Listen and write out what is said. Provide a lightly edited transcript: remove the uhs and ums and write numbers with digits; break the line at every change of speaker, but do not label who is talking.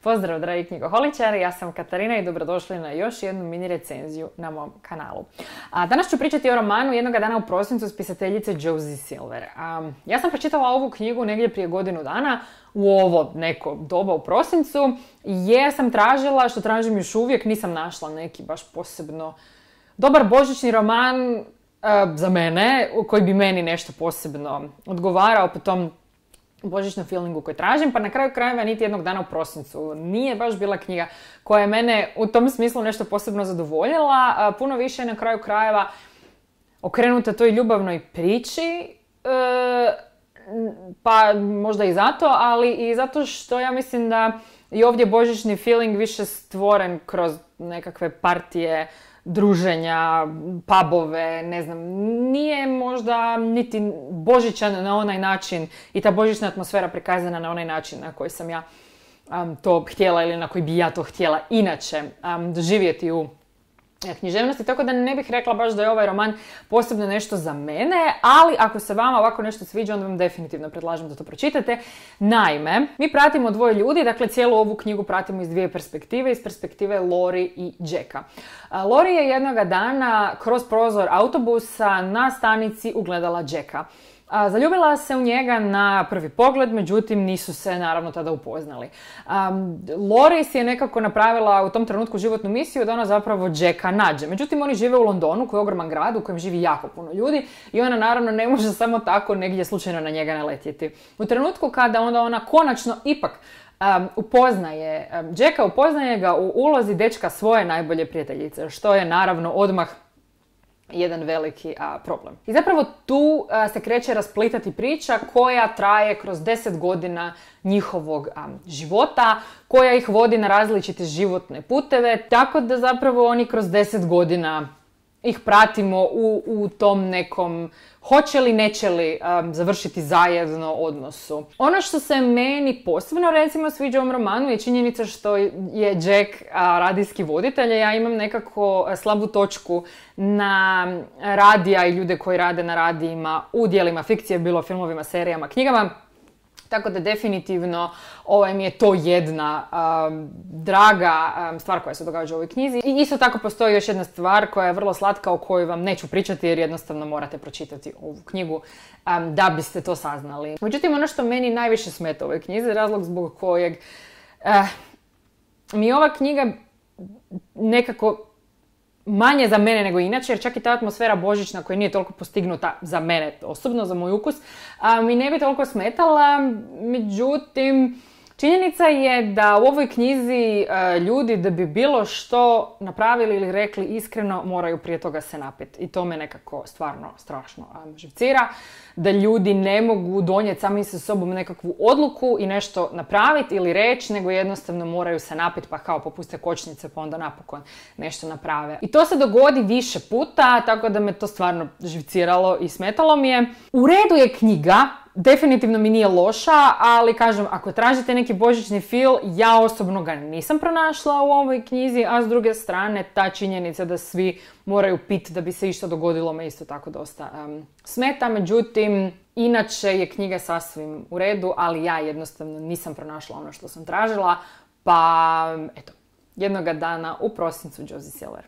Pozdrav dragi knjigoholičari, ja sam Katarina i dobrodošli na još jednu mini recenziju na mom kanalu. Danas ću pričati o romanu Jednoga dana u prosincu spisateljice Josie Silver. Ja sam pročitala ovu knjigu negdje prije godinu dana u ovo neko doba u prosincu jer sam tražila, što tražim još uvijek, nisam našla neki baš posebno dobar božićni roman za mene, koji bi meni nešto posebno odgovarao po tom božićnom feelingu koji tražim, pa na kraju krajeva niti Jednog dana u prosincu nije baš bila knjiga koja je mene u tom smislu nešto posebno zadovoljila. Puno više je na kraju krajeva okrenuta toj ljubavnoj priči, pa možda i zato, ali i zato što ja mislim da i ovdje božićni feeling više stvoren kroz nekakve partije, druženja, pubove, ne znam, nije možda niti božićan na onaj način i ta božićna atmosfera prikazana na onaj način na koji sam ja to htjela ili na koji bi ja to htjela inače doživjeti u književnosti, tako da ne bih rekla baš da je ovaj roman posebno nešto za mene, ali ako se vama ovako nešto sviđa, onda vam definitivno predlažem da to pročitate. Naime, mi pratimo dvoje ljudi, dakle cijelu ovu knjigu pratimo iz dvije perspektive, iz perspektive Lori i Jacka. Lori je jednoga dana kroz prozor autobusa na stanici ugledala Jacka. Zaljubila se u njega na prvi pogled, međutim nisu se naravno tada upoznali. Lori si je nekako napravila u tom trenutku životnu misiju da ona zapravo Jacka nađe. Međutim, oni žive u Londonu, koji je ogroman grad u kojem živi jako puno ljudi i ona naravno ne može samo tako negdje slučajno na njega naletjeti. U trenutku kada onda ona konačno ipak upoznaje Jacka, upoznaje ga u ulozi dečka svoje najbolje prijateljice, što je naravno odmah jedan veliki problem. I zapravo tu se kreće rasplitati priča koja traje kroz 10 godina njihovog života, koja ih vodi na različite životne puteve, tako da zapravo oni kroz 10 godina ih pratimo u tom nekom hoće li, neće li završiti zajedno odnosu. Ono što se meni posebno recimo sviđa u ovom romanu je činjenica što je Jack radijski voditelj. Ja imam nekako slabu točku na radija i ljude koji rade na radijima u dijelima fikcije, bilo filmovima, serijama, knjigama. Tako da definitivno mi je to jedna draga stvar koja se događa u ovoj knjizi. I isto tako postoji još jedna stvar koja je vrlo slatka o kojoj vam neću pričati jer jednostavno morate pročitati ovu knjigu da biste to saznali. Međutim, ono što meni najviše smeta u ovoj knjizi, razlog zbog kojeg mi je ova knjiga nekako manje za mene nego inače, jer čak i ta atmosfera božićna koja nije toliko postignuta za mene osobno, za moj ukus, mi ne bi toliko smetala. Međutim, činjenica je da u ovoj knjizi ljudi da bi bilo što napravili ili rekli iskreno moraju prije toga se napiti. I to me nekako stvarno strašno živcira. Da ljudi ne mogu donijeti sami sa sobom nekakvu odluku i nešto napraviti ili reći, nego jednostavno moraju se napiti pa kao popuste kočnice pa onda napokon nešto naprave. I to se dogodi više puta, tako da me to stvarno živciralo i smetalo mi je. U redu je knjiga, definitivno mi nije loša, ali kažem, ako tražite neki božićni feel, ja osobno ga nisam pronašla u ovoj knjizi, a s druge strane ta činjenica da svi moraju piti da bi se išta dogodilo me isto tako dosta smeta. Međutim, inače je knjiga sasvim u redu, ali ja jednostavno nisam pronašla ono što sam tražila, pa eto, Jednoga dana u prosincu Josie Silver.